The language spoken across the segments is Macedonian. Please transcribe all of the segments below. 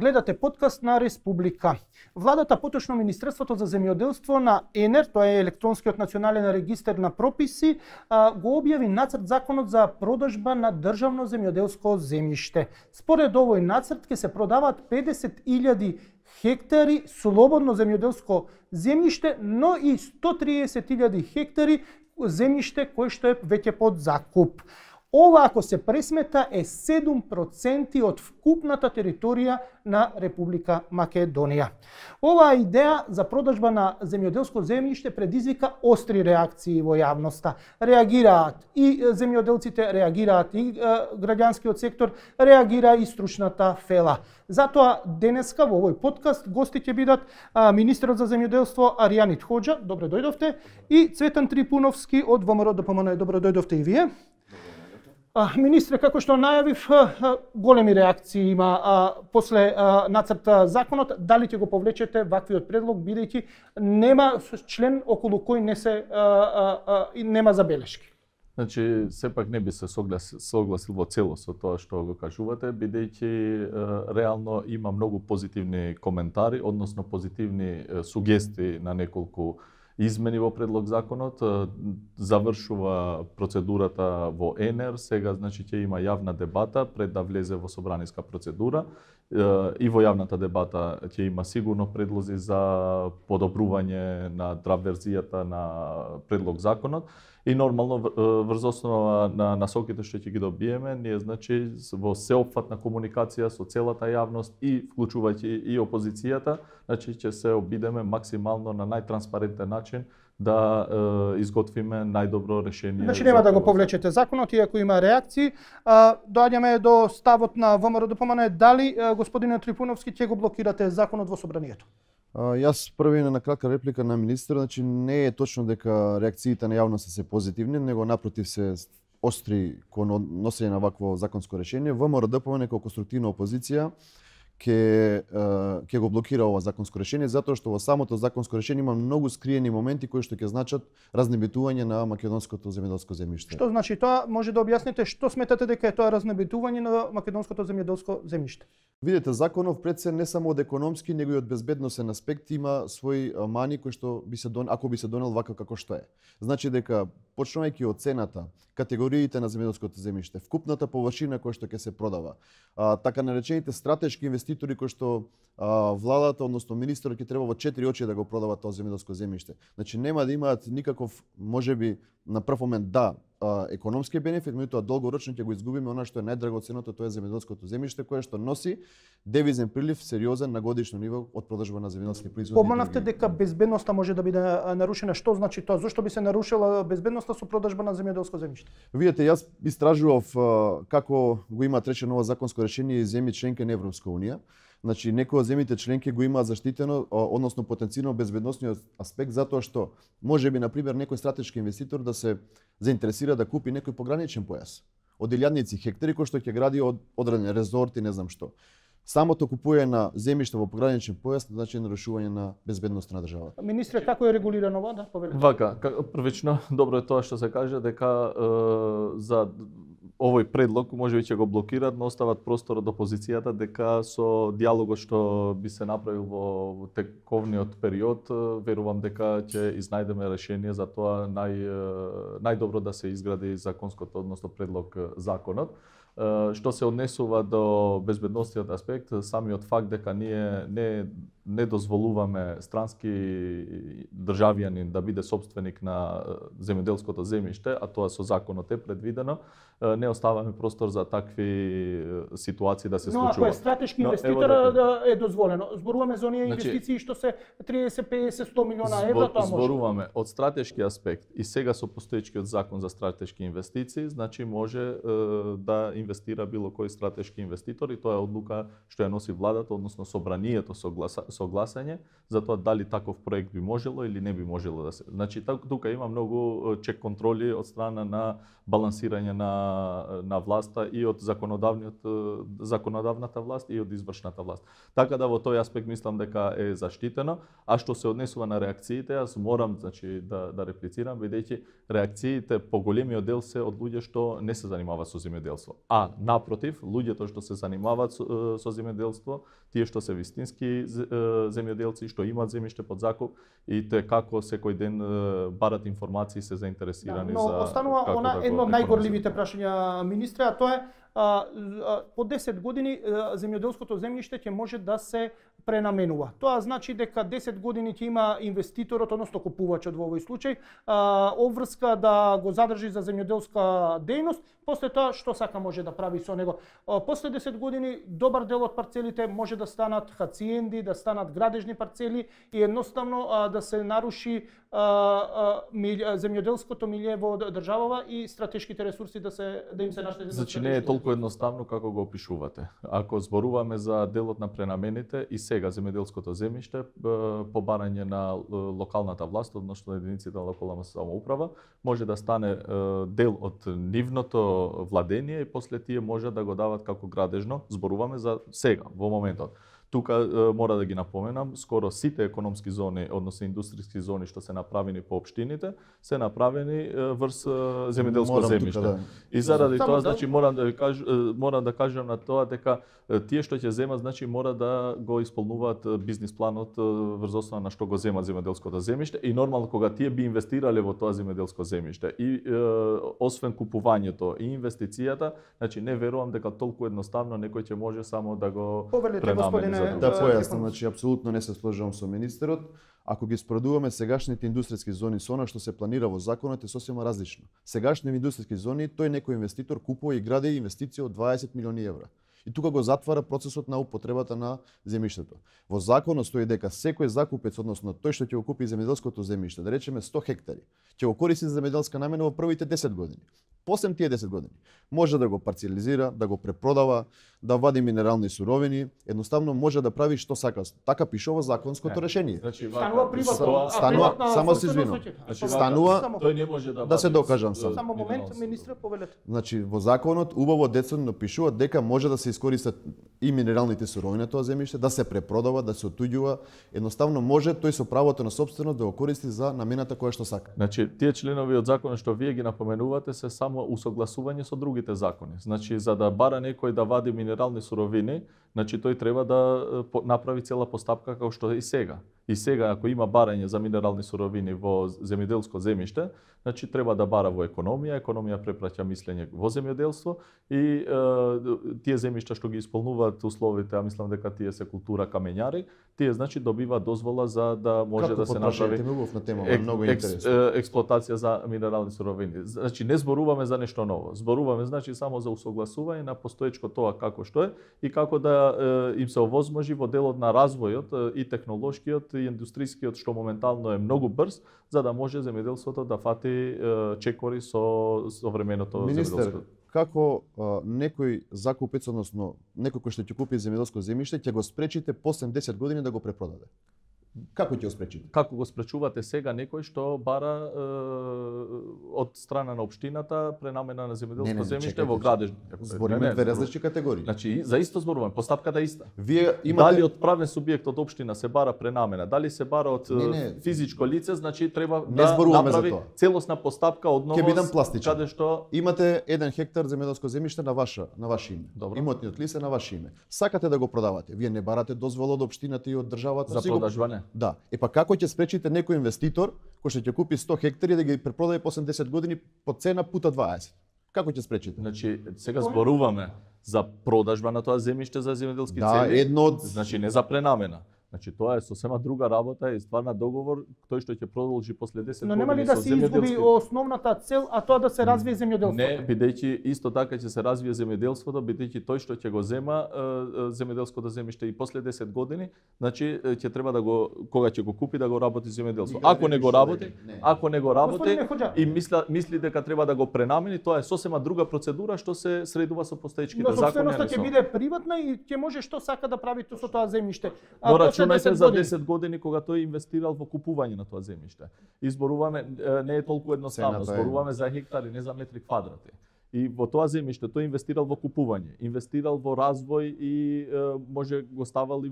Гледате подкаст на Республика. Владата, поточно Министерството за земјоделство на ЕНЕР, тоа е електронскиот национален регистер на прописи, го објави нацрт законот за продажба на државно земјоделско земјиште. Според овој нацрт ќе се продаваат 50.000 хектари слободно земјоделско земјиште, но и 130.000 хектари земјиште кој што е веќе под закуп. Ова, ако се пресмета, е 7% од вкупната територија на Република Македонија. Оваа идеја за продажба на земјоделско земјиште предизвика остри реакции во јавноста. Реагираат и земјоделците, реагираат и граѓанскиот сектор, реагира и стручната фела. Затоа денеска во овој подкаст гости ќе бидат министерот за земјоделство Аријанит Хоџа, добро дојдовте, и Цветан Трипуновски од ВМРО ДПМН, добро дојдовте и вие. Министре, како што најавив, големи реакции има после нацрт законот. Дали ќе го повлечете ваквиот предлог, бидејќи нема член околу кој нема забелешки? Значи, сепак не би се согласил во целост со тоа што го кажувате, бидејќи реално има многу позитивни коментари, односно позитивни сугестии на неколку измени во предлог законот, завршува процедурата во ЕНЕР, сега значи ќе има јавна дебата пред да влезе во собраниска процедура и во јавната дебата ќе има сигурно предлози за подобрување на драв верзијата на предлог законот и нормално врз основа на насоките што ќе ги добиеме, ние значи во сеопфатна комуникација со целата јавност и вклучувајќи и опозицијата, значи ќе се обидеме максимално на најтранспарентен начин да изготвиме најдобро решение. Значи нема да го повлечете законот, иако има реакции. Доаѓаме до ставот на ВМРО ДПМН. Дали господине Трипуновски ќе го блокирате законот во собранието? Јас први на кратка реплика на министер, значи не е точно дека реакциите на јавноста се позитивни, него напротив се остри кон носење на вакво законско решение. ВМРО ДПМН како конструктивна опозиција ќе го блокира ова законско решение, затоа што во самото законско решение има многу скриени моменти кои што ќе значат разнебитување на македонското земјоделско земјиште. Што значи тоа? Може да објасните што сметате дека е тоа разнебитување на македонското земјоделско земјиште? Видете, законов пред се не само од економски, него и од безбедносен аспект има свои мани кои што ако би се донел вака како што е. Значи дека почнувајќи од цената, категориите на земјоделското земјиште, вкупната површина која што ќе се продава, така наречените стратешки инвеститори кои што владата, односно министерот ќе треба во 4 очи да го продава тоа земјоделско земјиште. Значи нема да имаат никаков, можеби на прв момент економски бенефит, меѓутоа долгорочно ќе го изгубиме она што е најдрагоценното, тоа е земјоделското земјиште кое што носи девизен прилив сериозен на годишно ниво од продажба на земјоделски производи. Поманавте дека безбедноста може да биде нарушена. Што значи тоа? Зошто би се нарушила безбедноста со продажба на земјоделско земјиште? Видете, јас истражував како го имаат речено ова законско решение и земји членки на Европска унија. Значи, некои од земјите членки го имаат заштитено, односно потенцирано безбедносниот аспект, затоа што можеби, например, некој стратешки инвеститор да се заинтересира да купи некој пограничен појас од илјадници хектари кој што ќе гради од одреден резорт и не знам што. Самото купување на земјиште во пограничен појас значи нарушување на безбедноста на државата. Министре, како е регулирано ова? Да, повелете. Вака, првично добро е тоа што се каже дека за овој предлог можеби ќе го блокираат, но остават простор од опозицијата дека со дијалогот што би се направил во тековниот период, верувам дека ќе изнајдеме решение за тоа најдобро да се изгради законското, односно предлог законот. Што се однесува до безбедносниот аспект, самиот факт дека ние не дозволуваме странски државјанин да биде собственик на земјоделското земјиште, а тоа со законот е предвидено, не оставаме простор за такви ситуации да се случуваат. Но ако е стратешки инвеститор е дозволено. Зборуваме за оние инвестиции што се 30, 50, 100 милиона евра, тоа може. Зборуваме од стратешки аспект и сега со постоечкиот закон за стратешки инвестиции, значи може да инвестира било кој стратешки инвеститор и тоа е одлука што ја носи владата, односно собранието со гласање за тоа дали таков проект би можело или не би можело да се. Значи тука има многу чек контроли од страна на балансирање на власта и од законодавната власт и од извршната власт. Така да во тој аспект мислам дека е заштитено, а што се однесува на реакциите, јас морам значи да реплицирам, бидејќи реакциите по големиот дел се од луѓе што не се занимава со земјоделство. А напротив, луѓето што се занимаваат со земјоделство, тие што се вистински земјоделци, што имаат земјиште под закуп и те како секој ден барат информации, се заинтересирани но за останува како едно од најгорливите прашања, министре, а тоа е по 10 години земјоделското земјиште ќе може да се пренаменува. Тоа значи дека 10 години ќе има инвеститорот, односно купувачот во овој случај, обврска да го задржи за земјоделска дејност, после тоа што сака може да прави со него. После 10 години добар дел од парцелите може да станат хациенди, да станат градежни парцели и едноставно да се наруши земјоделското милје во државава и стратешките ресурси да им се наштети. Значи не е толку едноставно како го опишувате. Ако зборуваме за делот на пренамените и сега земјоделското земјиште по барање на локалната власт, односно единиците на локална самоуправа, може да стане дел од нивното владение и после тие може да го дават како градежно. Зборуваме за сега, во моментот. Тука мора да ги напоменам, скоро сите економски зони, односно индустријски зони што се направени по општините, се направени врз земјоделско земјиште. И заради тоа, значи морам да кажам на тоа дека тие што ќе земат, значи мора да го исполнуваат бизнис планот врз основа на што го земат земјоделското земјиште и нормално кога тие би инвестирале во тоа земјоделско земјиште и освен купувањето и инвестицијата, значи не верувам дека толку едноставно некој ќе може само да го пренамени. Да појаснам, значи апсолутно не се сложувам со министерот. Ако ги споредуваме сегашните индустријски зони со она што се планира во законот е сосема различно. Сегашните индустријски зони тој некој инвеститор купува и гради инвестиција од 20 милиони евра. И тука го затвара процесот на употребата на земјиштето. Во законот стои дека секој закупец, односно тој што ќе го купи земјоделското земјиште, да речеме 100 хектари, ќе го користи за земјоделска намена во првите 10 години. После тие 10 години може да го парцелизира, да го препродава, да вади минерални суровини, едноставно може да прави што сака. Така пише во законското решение. Значи, станува приватно, само се извинувам. Станува, тој не може да се докажам сам. Само момент, министре, повелете. Значи во законот убаво децидно пишува дека може да се искористат и минералните суровини на тоа земјиште, да се препродава, да се отуѓува, едноставно може тој со правото на сопственост да го користи за намената која што сака. Значи тие членови од законот што вие ги напоменувате се само усогласување со другите закони. Значи за да бара некој да вади минерални суровини, значи тој треба да направи цела постапка како што е и сега. И сега ако има барање за минерални суровини во земјоделско земјиште, значи треба да бара во економија препраќа мислење во земјоделство и тие земјишта што ги исполнуваат условите, а мислам дека тие се култура камењари, тие значи добиваат дозвола за да може како да се направи експлоатација за минерални суровини. Значи не зборуваме за нешто ново, зборуваме значи само за усогласување на постоечко тоа како што е и како да им се овозможи во делот на развојот и технолошкиот и индустријскиот што моментално е многу брз, за да може земјоделството да фати чекори со современото земјоделско. Како некој закупец, односно некој кој што ќе купи земјоделско земјиште, ќе го спречите после 10 години да го препродаде? Како ќе го спречите? Како го спречувате сега некој што бара од страна на општината пренамена на земјоделско земјиште во градежно? Збориме две различни категории. Значи за исто зборуваме, постапката е иста. Вие имате дали од правен субјект од општина се бара пренамена, дали се бара од физичко лице, значи треба да направи целосна постапка одново. Ќе бидам пластичен. Каде што имате 1 хектар земјоделско земјиште на ваше име. Добро. Имотниот лист е на ваше име. Сакате да го продавате. Вие не барате дозвола од општината и од државата за продажба не. Да. Па како ќе спречите некој инвеститор кој што ќе купи 100 хектари да ги препродаде после 10 години по цена пута 20? Како ќе спречите? Значи сега зборуваме за продажба на тоа земјиште за земјоделски цели. Да, едно од... Значи не за пренамена. Значи тоа е сосема друга работа и стварна договор тој што ќе продолжи после 10 години. Но нема ли да се изгуби основната цел, а тоа да се развие земјоделството? Не, бидејќи исто така ќе се развие земјоделството, бидејќи тој што ќе го зема земјоделското земјиште и после 10 години, значи ќе треба да го кога ќе го купи да го работи земјоделство. Ако не го работи, и мисли дека треба да го пренамени, тоа е сосема друга процедура што се средува со постоечките закони. Но собственоста ќе биде приватна и ќе може што сака да прави со тоа земјиште. Рачунајте за 10 години кога тој инвестирал во купување на тоа земјиште. Изборуваме не е толку едноставно, зборуваме за хектари, не за метри квадрати. И во тоа земјиште тој инвестирал во купување, инвестирал во развој и може го ставал и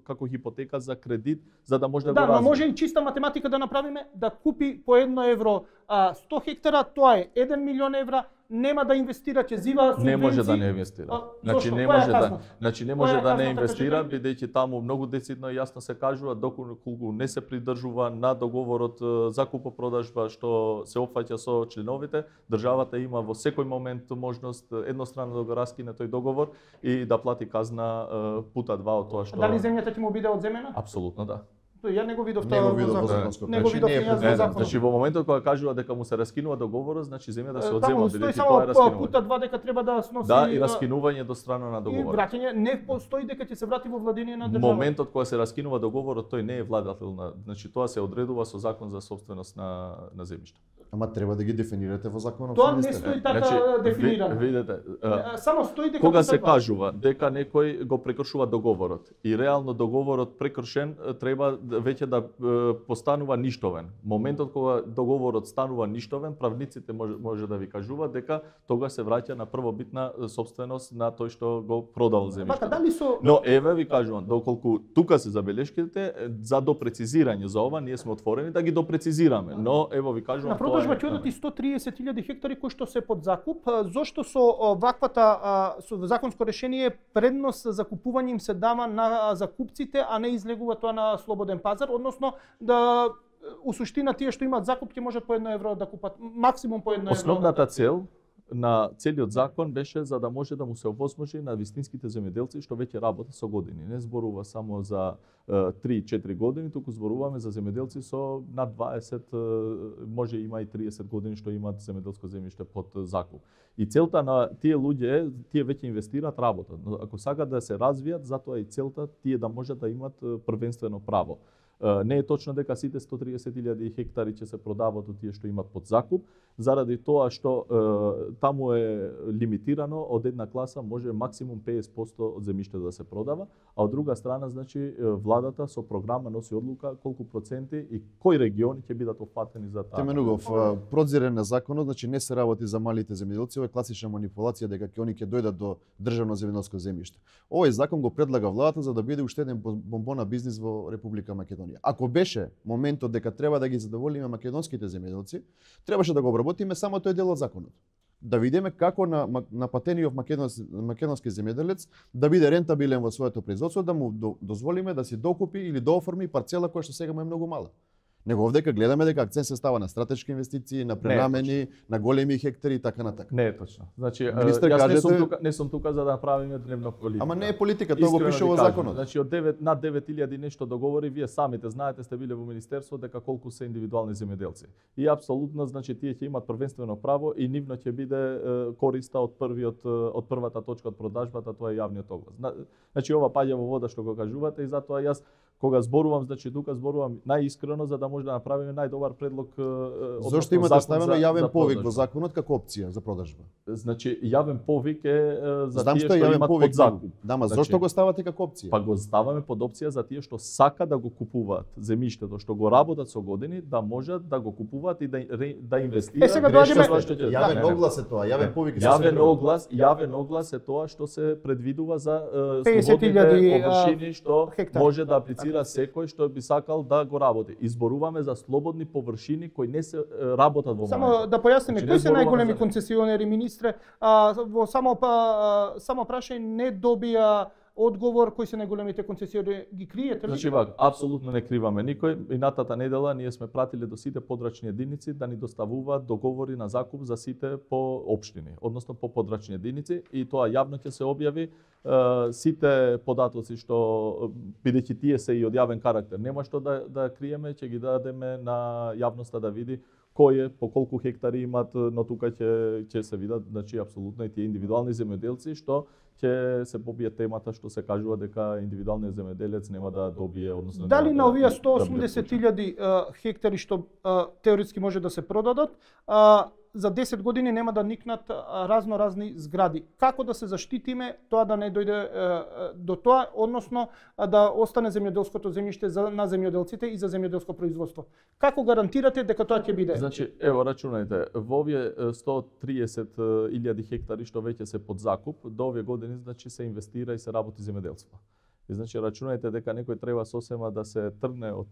како хипотека за кредит за да може да го развие. Да, но може и чиста математика да направиме, да купи по 1 евро 100 хектара, тоа е 1 милион евра, нема да инвестира, ќе зива субвенции. Не може да не инвестира. Значи не може да не инвестира, бидејќи таму многу децидно и јасно се кажува доколку не се придржува на договорот за купо-продажба што се опфаќа со членовите, државата има во секој момент можност едностранно да го раскине тој договор и да плати казна пута 2 од тоа што. Дали земјата ќе му биде одземена? Апсолутно да. Ја не го видов тоа во законот. Не го видов во законот. Значи во моментот кога кажува дека му се раскинува договорот, значи земјата се одзема, бидејќи тоа е раскинување. Пута 2 дека треба да сноси. Да, и раскинување до страна на И договорот. враќање не постои дека ќе се врати во владение на државата. Моментот кога се раскинува договорот, тој не е владател на, значи тоа се одредува со закон за собственост на земјиште. Ама треба да ги дефинирате во законот. Тоа не стои така дефинирано. Видете, само стои дека кога се кажува дека некој го прекршува договорот и реално договорот прекршен треба веќе да постанува ништовен. Моментот кога договорот станува ништовен, правниците може да ви кажуваат дека тогаш се враќа на првобитна собственост на тој што го продал земјиште. Но еве ви кажувам, доколку тука се забелешките за допрецизирање за ова, ние сме отворени да ги допрецизираме, но ево ви кажувам на продажба ќе одат и 130.000 хектари кои што се под закуп. Зошто со ваквата со законско решение предност за купување им се дава на закупците, а не излегува тоа на слободен пазар, односно да у суштина тие што имаат закуп ќе можат по 1 евро да купат, максимум по 1 евро. Основната цел на целиот закон беше за да може да му се овозможи на вистинските земјоделци што веќе работат со години. Не зборува само за 3-4 години, туку зборуваме за земјоделци со над 20, може има и 30 години што имаат земјоделско земјиште под закуп. И целта на тие луѓе, тие веќе инвестираат, работат. Но ако сакаат да се развијат, затоа и целта тие да можат да имат првенствено право. Не е точно дека сите 130.000 хектари ќе се продават од тие што имат под закуп, заради тоа што таму е лимитирано, од една класа може максимум 50% од земјиште да се продава, а од друга страна, значи, владата со програма носи одлука колку проценти и кои региони ќе бидат опфатени за таа. Теменугов, продзирен на законот, значи не се работи за малите земјоделци, ова е класична манипулација дека ќе они ќе дојдат до државно земјоделско земјиште. Овој закон го предлага владата за да биде уште еден бомбон на бизнис во Република Македонија. Ако беше моментот дека треба да ги задоволиме македонските земјоделци, требаше да го обработиме само тој дел од законот. Да видиме како на патениот македонски земјоделец да биде рентабилен во своето производство, да му дозволиме да си докупи или дооформи парцела која што сега му е многу мала. Него овдека гледаме дека акцент се става на стратешки инвестиции, на пренамени, на големи хектари и така натака. Не е точно. Значи, Министер, јас не сум тука за да правиме дневна политика. Ама не е политика, тоа го пише во законот. Значи од над 9.000 нешто договори, вие самите знаете, сте биле во министерство дека колку се индивидуални земјоделци. И апсолутно, значи тие ќе имат првенствено право и нивно ќе биде користа од првата точка од продажбата, тоа е јавниот оглас. Значи ова паѓа во вода што го кажувате и затоа јас кога зборувам, значи тука зборувам најискрено за да може да направиме најдобар предлог. Зошто има да ставено јавен повик во законот како опција за продажба? Значи јавен повик е за тие што имат под закуп. Да, ма зошто го ставате како опција? Па го ставаме под опција за тие што сака да го купуваат земјиштето, што го работат со години, да можат да го купуваат и да инвестираат. Сега доаѓаме јавен оглас е тоа, јавен повик. Јавен оглас е тоа што се предвидува за 50.000 површини што може да аплицира секој што би сакал да го работи. Изборуваме за слободни површини кои не се работат во моментот. Само да појасниме, кои се најголеми концесионери, министре? Во само прашање не добија одговор кои се најголемите концесионери, ги криете ли? Значи вака, апсолутно не криваме никој. Минатата недела ние сме пратиле до сите подрачни единици да ни доставуваат договори на закуп за сите по општини, односно по подрачни единици и тоа јавно ќе се објави. Сите податоци што бидејќи тие се и од јавен карактер, нема што да криеме, ќе ги дадеме на јавноста да види кој е, по колку хектари имат, но тука ќе се видат, значи апсолутно и тие индивидуални земјоделци што ќе се побие темата што се кажува дека индивидуалниот земјоделец нема да добие, односно дали на овие 180.000 хектари што теоретски може да се продадат, за 10 години нема да никнат разни згради. Како да се заштитиме тоа да не дојде до тоа, односно да остане земјоделското земјиште на земјоделците и за земјоделско производство? Како гарантирате дека тоа ќе биде? Значи, ево рачунајте, во овие 130.000 хектари што веќе се под закуп, до овие години значи се инвестира и се работи земјоделство. И значи рачунајте дека некој треба сосема да се тргне од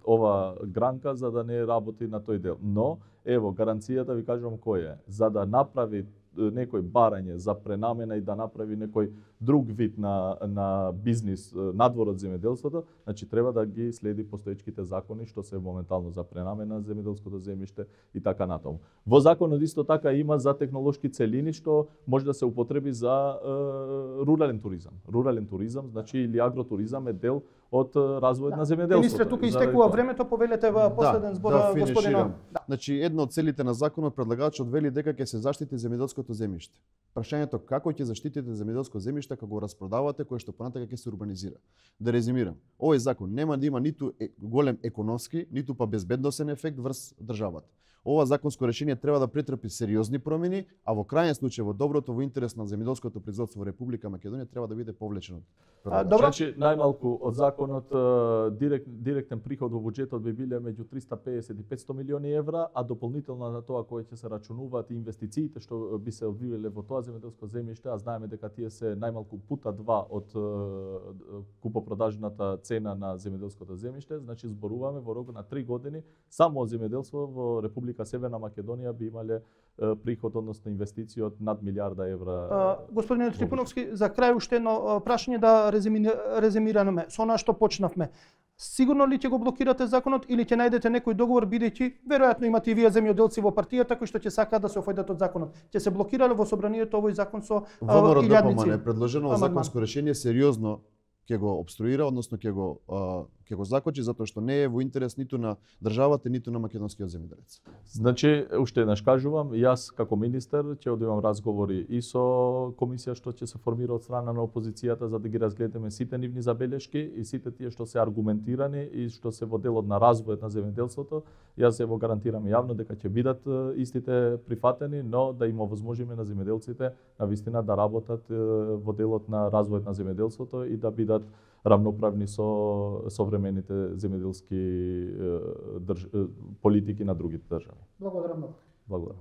ова гранка за да не работи на тој дел. Но ево гаранцијата ви кажувам кој е. За да направи некој барање за пренамена и да направи некој друг вид на бизнис надвор од земјоделството, значи треба да ги следи постоечките закони што се моментално за пренамена земјоделското земјиште и така натаму. Во законот исто така има за технолошки целини што може да се употреби за рурален туризам. Рурален туризам, значи или агротуризам е дел од развојот на земјоделството. Министре, тука истекува времето, повелете во последен збор господино. Значи едно од целите на законот предлагачот вели дека ќе се заштити земјоделското земјиште. Прашањето како ќе заштитите земјоделско земјиште кога го распродавате кое што понатака ќе се урбанизира. Да резимирам, овој закон нема да има ниту голем економски, ниту па безбедносен ефект врз државата. Ова законско решение треба да претрпи сериозни промени, а во крајен случај во доброто, во интерес на земјоделското производство во Република Македонија треба да биде повлечено. Значи најмалку од законот директен приход во буџетот би биле меѓу 350 и 500 милиони евра, а дополнително на тоа кои ќе се рачунуваат инвестициите што би се одвивеле во тоа земјоделско земјиште, а знаеме дека тие се најмалку пута 2 од купопродажната цена на земјоделското земјиште, значи зборуваме во рок на 3 години само од земјоделство во Република Северна Македонија би имале приход, односно инвестиции од над милиарда евра. Господине Трипуновски, за крај уште едно прашање да резимираме со она што почнавме. Сигурно ли ќе го блокирате законот или ќе најдете некој договор, бидејќи веројатно имате и вие земјоделци во партијата кои што ќе сакаат да се офајдат од законот? Ќе се блокира ли во собранието овој закон со илјадници? ВМРО предложено законско решение сериозно ќе го обструира, односно ќе го закочи затоа што не е во интерес ниту на државата, ниту на македонскиот земјоделец. Значи, уште еднаш кажувам, јас како министер ќе одимам разговори и со комисија што ќе се формира од страна на опозицијата за да ги разгледаме сите нивни забелешки и сите тие што се аргументирани и што се во делот на развојот на земјоделството. Јас ево гарантирам јавно дека ќе бидат истите прифатени, но да им овозможиме на земјоделците навистина да работат во делот на развојот на земјоделството и да бидат рамноправни со современите земјоделски политики на другите држави. Благодарам многу. Благодарам.